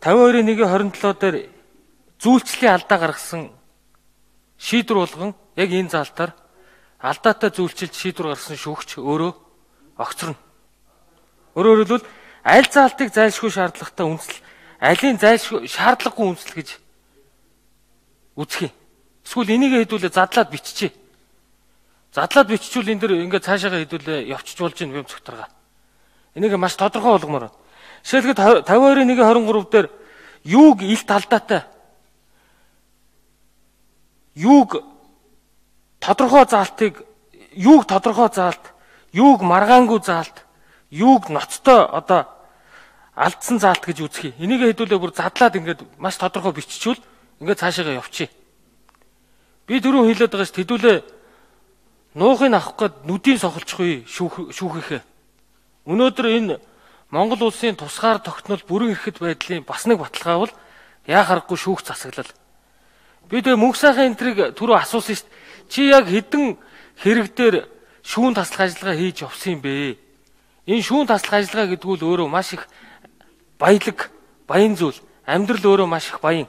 52-1-27 дээр зүйлчлэлийн алдаа гаргасан шийдвэр болгон яг энэ заалтаар алдаатай зүйлчилж шийдвэр гаргасан шүүгч өөрөө огцорно. Өөрөөр хэлбэл аль заалтыг зайлшгүй шаардлагатай үндэслэл, алийн зайлшгүй шаардлагагүй үндэслэл гэж үзэх юм. Эсвэл энийг хэдүүлээ задлаад биччихье. Задлаад биччихвэл энэ дэр ингээд цаашаага хэдүүлээ явчих болж ийн юм цогторгаа. Энийг маш тодорхой болгомоор. Жишээлбэл 52-1-23 дээр юуг илт алдаатай, юуг тодорхой заалтыг, юуг тодорхой заалт, юуг маргаангүй заалт, юуг ноцтой одоо алдсан заалт гэж үзэх юм. Энийг хэдүүлээ бүр задлаад ингээд маш тодорхой биччихвэл ингээд цаашаага явчих. Би түрүүн хэлээд байгаа шүү хэдүүлээ нуухыг авах гээд нүдийн сохолцохгүй шүүхийнхээ. Өнөөдөр энэ Монгол улсын тусгаар тогтнол бүрэн эрхэт байдлын бас нэг баталгаа бол яа харахгүй шүүх засаглал. Би тэгээ мөнх сайхан энтриг түрүү асуусан шүү дээ. Чи яг хэдэн хэрэг дээр шүүн таслах ажиллагаа хийж явсан юм бэ? Энэ шүүн таслах ажиллагаа гэдэг нь өөрөө маш их баян зүйл. Амьдрал өөрөө маш их баян.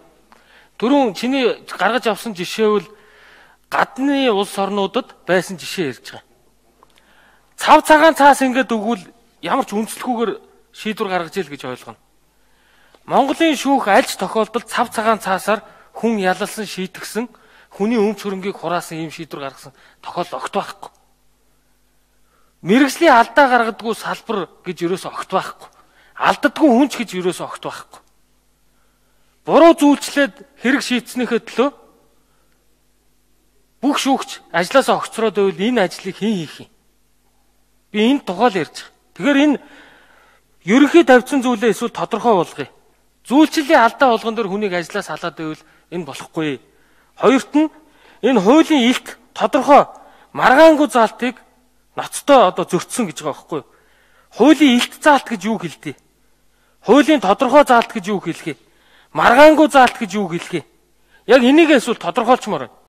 Түрүүн чиний гаргаж авсан жишээ бол гадны улс орнуудад байсан жишээ ярьж байгаа. Цав цагаан цаас ингээд өгвөл ямар ч үндэслэхгүйгээр шийдвэр гаргаж ил гэж ойлгоно. Монголын шүүх альж тохиолдолд цав цагаан цаасаар хүн ялалсан шийтгсэн, хүний өмч хөрөнгийг хураасан ийм шийдвэр гаргасан тохиолдол огт байхгүй. Мэргэжлийн алдаа гаргадаггүй салбар гэж ерөөсөө огт байхгүй. Алддаггүй хүнч гэж ерөөсөө огт байхгүй. Буруу зүйлчлээд хэрэг шийдснийхээ төлөө бүх шүүгч ажлаасаа огцроод байвал энэ ажлыг хэн хийх юм? Би энд тухайл ярьж байгаа. Тэгэхээр энэ ерөнхий тавьсан зүйлээ эсвэл тодорхой болгоё. Зүйлчлэлийн алдаа болгон дээр хүнийг ажлаас халаад байвал энэ болохгүй. Хоёрт нь энэ хуулийн илт тодорхой маргаангүй заалтыг ноцтой одоо зөрчсөн гэж байгаа байхгүй юу? Хуулийн илт заалт гэж юу хэлдэг? Хуулийн тодорхой заалт гэж юу хэлэх вэ? Маргаангүй заалт гэж юу хэлэх вэ? Яг энийг эсвэл тодорхойлчмоор байна.